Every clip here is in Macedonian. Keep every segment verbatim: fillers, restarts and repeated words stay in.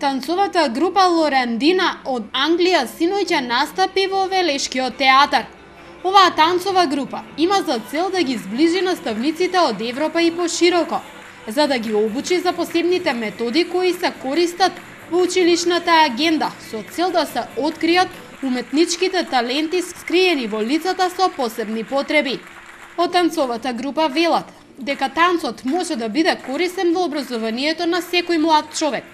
Танцовата група Лорандина од Англија синоќа настапи во Велешкиот театар. Оваа танцова група има за цел да ги зближи наставниците од Европа и пошироко, за да ги обучи за посебните методи кои се користат во училишната агенда, со цел да се откријат уметничките таленти скриени во лицата со посебни потреби. Од танцовата група велат дека танцот може да биде корисен во образованието на секој млад човек,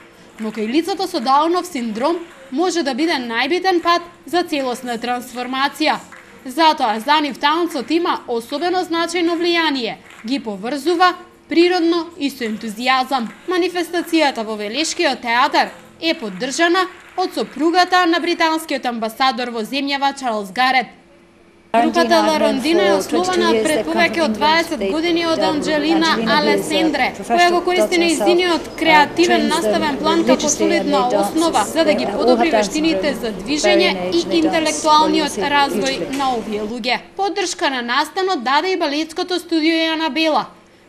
но кај лицата со Даунов синдром може да биде најбитен пат за целосна трансформација. Затоа за нив танцот има особено значајно влијание, ги поврзува природно и со ентузијазам. Манифестацијата во Велешкиот театар е поддржана од сопругата на британскиот амбасадор во земјава Чарлс Гарет. Групата Лорандина е основана пред повеќе од дваесет години од Анджелина Алесандре, која го користи нејзиниот креативен наставен план како солидна основа за да ги подобри вештините за движење и интелектуалниот развој на овие луѓе. Поддршка на настанот даде и балетското студио Јанабела,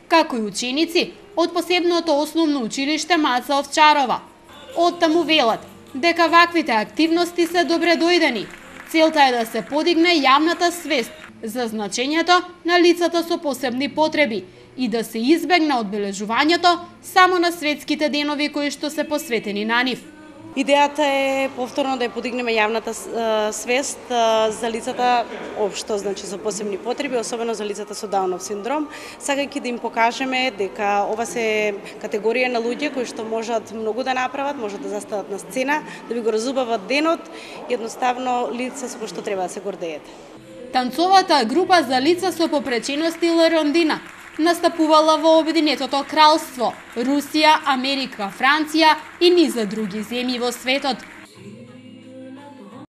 како и ученици од посебното основно училиште Маца Овчарова. Оттаму велат дека ваквите активности се добре дојдени. Целта е да се подигне јавната свест за значењето на лицата со посебни потреби и да се избегне одбележувањето само на светските денови кои што се посветени на нив. Идејата е повторно да ја подигнеме јавната свест за лицата општо, значи со посебни потреби, особено за лицата со Даунов синдром, сакајќи да им покажеме дека ова се категорија на луѓе кои што можат многу да направат, можат да застават на сцена, да би го разубават денот, едноставно лица со кои што треба да се гордеете. Танцовата група за лица со попречености Лорандина настапувала во Обединетото кралство, Русија, Америка, Франција и низа други земји во светот.